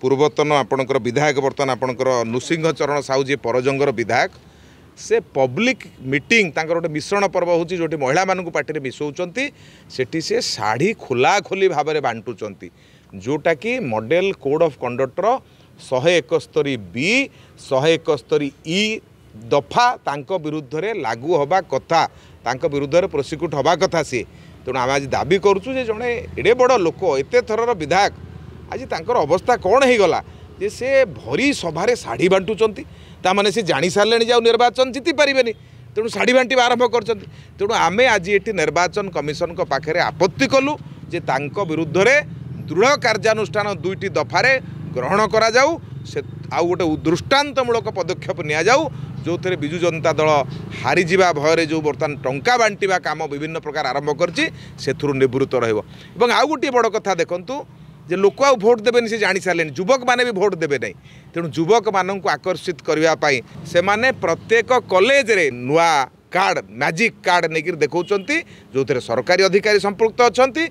ପୂର୍ବତନ ଆପଣଙ୍କର ବିଧାୟକ, ବର୍ତ୍ତମାନ ଆପଣଙ୍କର ନୃସିଂହ ଚରଣ ସାହୁ ଯିଏ ପରଜଙ୍ଗର ବିଧାୟକ, ସେ ପବ୍ଲିକ୍ ମିଟିଂ, ତାଙ୍କର ଗୋଟେ ମିଶ୍ରଣ ପର୍ବ ହେଉଛି ଯେଉଁଠି ମହିଳାମାନଙ୍କୁ ପାର୍ଟିରେ ମିଶାଉଛନ୍ତି, ସେଠି ସେ ଶାଢ଼ୀ ଖୋଲାଖୋଲି ଭାବରେ ବାଣ୍ଟୁଛନ୍ତି, ଯେଉଁଟାକି ମଡ଼େଲ କୋଡ଼୍ ଅଫ୍ କଣ୍ଡକ୍ଟର 171 ବି, 171 ଇ ଦଫା ତାଙ୍କ ବିରୁଦ୍ଧରେ ଲାଗୁ ହେବା କଥା, ତାଙ୍କ ବିରୁଦ୍ଧରେ ପ୍ରୋସିକ୍ୟୁଟ୍ ହେବା କଥା ସିଏ। ତେଣୁ ଆମେ ଆଜି ଦାବି କରୁଛୁ ଯେ ଜଣେ ଏଡ଼େ ବଡ଼ ଲୋକ, ଏତେ ଥରର ବିଧାୟକ, ଆଜି ତାଙ୍କର ଅବସ୍ଥା କ'ଣ ହେଇଗଲା ଯେ ସେ ଭରି ସଭାରେ ଶାଢ଼ୀ ବାଣ୍ଟୁଛନ୍ତି? ତାମାନେ ସେ ଜାଣିସାରିଲେଣି ଯେ ଆଉ ନିର୍ବାଚନ ଜିତି ପାରିବେନି, ତେଣୁ ଶାଢ଼ୀ ବାଣ୍ଟିବା ଆରମ୍ଭ କରିଛନ୍ତି। ତେଣୁ ଆମେ ଆଜି ଏଠି ନିର୍ବାଚନ କମିଶନଙ୍କ ପାଖରେ ଆପତ୍ତି କଲୁ ଯେ ତାଙ୍କ ବିରୁଦ୍ଧରେ ଦୃଢ଼ କାର୍ଯ୍ୟାନୁଷ୍ଠାନ 2ଟି ଦଫାରେ ଗ୍ରହଣ କରାଯାଉ, ସେ ଆଉ ଗୋଟେ ଦୃଷ୍ଟାନ୍ତମୂଳକ ପଦକ୍ଷେପ ନିଆଯାଉ, ଯେଉଁଥିରେ ବିଜୁ ଜନତା ଦଳ ହାରିଯିବା ଭୟରେ ଯେଉଁ ବର୍ତ୍ତମାନ ଟଙ୍କା ବାଣ୍ଟିବା କାମ ବିଭିନ୍ନ ପ୍ରକାର ଆରମ୍ଭ କରିଛି, ସେଥିରୁ ନିବୃତ୍ତ ରହିବ। ଏବଂ ଆଉ ଗୋଟିଏ ବଡ଼ କଥା ଦେଖନ୍ତୁ ଯେ ଲୋକ ଆଉ ଭୋଟ ଦେବେନି, ସେ ଜାଣିସାରିଲେଣି, ଯୁବକମାନେ ବି ଭୋଟ ଦେବେ ନାହିଁ। ତେଣୁ ଯୁବକମାନଙ୍କୁ ଆକର୍ଷିତ କରିବା ପାଇଁ ସେମାନେ ପ୍ରତ୍ୟେକ କଲେଜରେ ନୂଆ କାର୍ଡ଼, ମ୍ୟାଜିକ୍ କାର୍ଡ଼ ନେଇକରି ଦେଖାଉଛନ୍ତି, ଯେଉଁଥିରେ ସରକାରୀ ଅଧିକାରୀ ସମ୍ପୃକ୍ତ ଅଛନ୍ତି।